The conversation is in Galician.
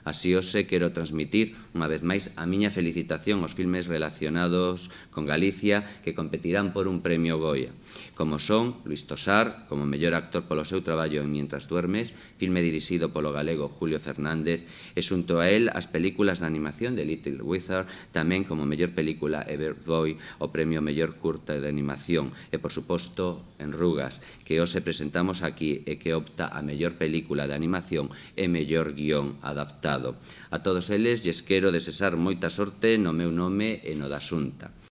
Así hoxe quero transmitir, unha vez máis, a miña felicitación aos filmes relacionados con Galicia que competirán por un premio Goya, como son Luís Tosar, como mellor actor polo seu traballo en Mientras duermes, filme dirixido polo galego Julio Fernández, e xunto a él as películas de animación de Little Wizard, tamén como mellor película Everboy, o premio mellor curta de animación, e, por suposto, Enrugas, que hoxe presentamos aquí e que opta a mellor película de animación e mellor guión adaptado. A todos eles lles quero desexar moita sorte no meu nome e no da Xunta.